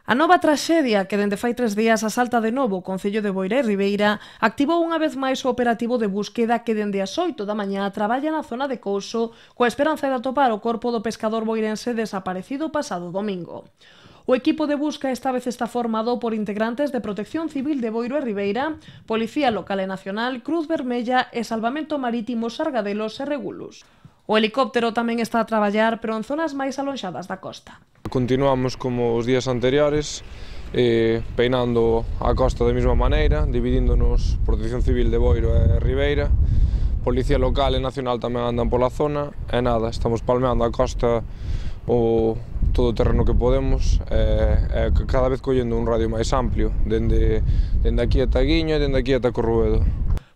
A nova traxedia que dende fai 3 días asalta de novo o concello de Boira e Ribeira activou unha vez máis o operativo de búsqueda que dende as 8 da mañá traballa na zona de Couso coa esperanza de atopar o corpo do pescador boirense desaparecido pasado domingo. O equipo de busca esta vez está formado por integrantes de Protección Civil de Boiro e Ribeira, Policía Local e Nacional, Cruz Vermella e Salvamento Marítimo Sargadelos e Regulus. O helicóptero tamén está a traballar, pero en zonas máis alonxadas da costa. Continuamos como os días anteriores, peinando a costa da mesma maneira, dividíndonos Protección Civil de Boiro e Ribeira, Policía Local e Nacional tamén andan pola zona, e nada, estamos palmeando a costa todo o terreno que podemos, e cada vez collendo un radio máis amplio, dende aquí ata Guiño e dende aquí ata Corruedo.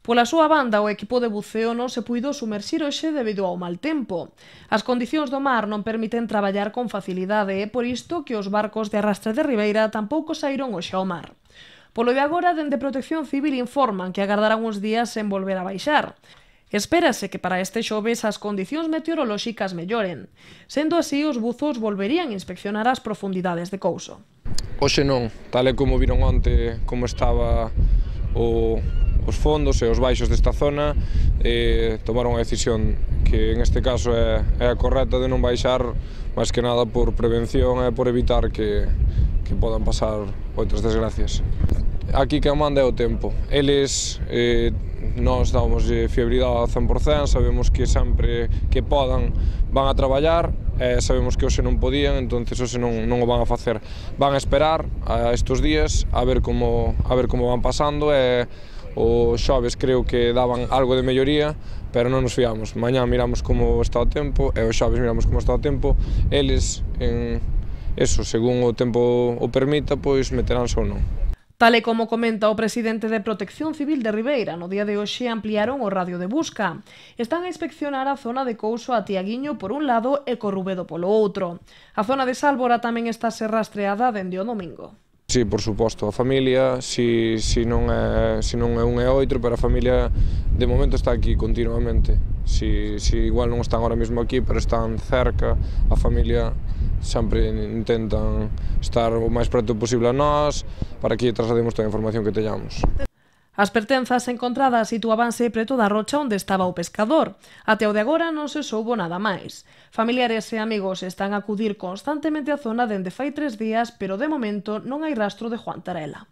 Pola súa banda, o equipo de buceo non se puido sumerxir hoxe debido ao mal tempo. As condicións do mar non permiten traballar con facilidade e por isto que os barcos de arrastre de Ribeira tampouco saíron hoxe ao mar. Polo de agora, dende Protección Civil informan que agardarán uns días sen volver a baixar. Espérase que para este xoves as condicións meteorolóxicas melloren. Sendo así, os buzos volverían a inspeccionar as profundidades de Couso. Hoxe non, tal e como viron onte como estaba os fondos e os baixos desta zona, tomaron a decisión que en este caso é a correcta de non baixar, máis que nada por prevención e por evitar que podan pasar outras desgracias. Aquí que manda é o tempo. Eles, nós damos fiabilidade ao 100%, sabemos que sempre que podan van a traballar, sabemos que hoxe non podían, entonces hoxe non o van a facer. Van a esperar a estes días a ver como van pasando e o xoves creo que daban algo de melloría, pero non nos fiamos. Mañá miramos como está o tempo e o xoves miramos como está o tempo. Eles, según o tempo o permita, pois meteránse ou non. Tal e como comenta o presidente de Protección Civil de Ribeira, no día de hoxe ampliaron o radio de busca. Están a inspeccionar a zona de Couso a Tiaguiño por un lado e Corrubedo polo outro. A zona de Sálvora tamén está a ser rastreada dende o domingo. Sí, por suposto, a familia, si non é un é outro, pero a familia de momento está aquí continuamente. Si igual non están ahora mesmo aquí, pero están cerca, a familia sempre intentan estar o máis preto posible a nós para que traslademos toda a información que teñamos. As pertenzas encontradas situábanse preto da rocha onde estaba o pescador. Até o de agora non se soubo nada máis. Familiares e amigos están a acudir constantemente á zona dende fai 3 días, pero de momento non hai rastro de Juan Tarela.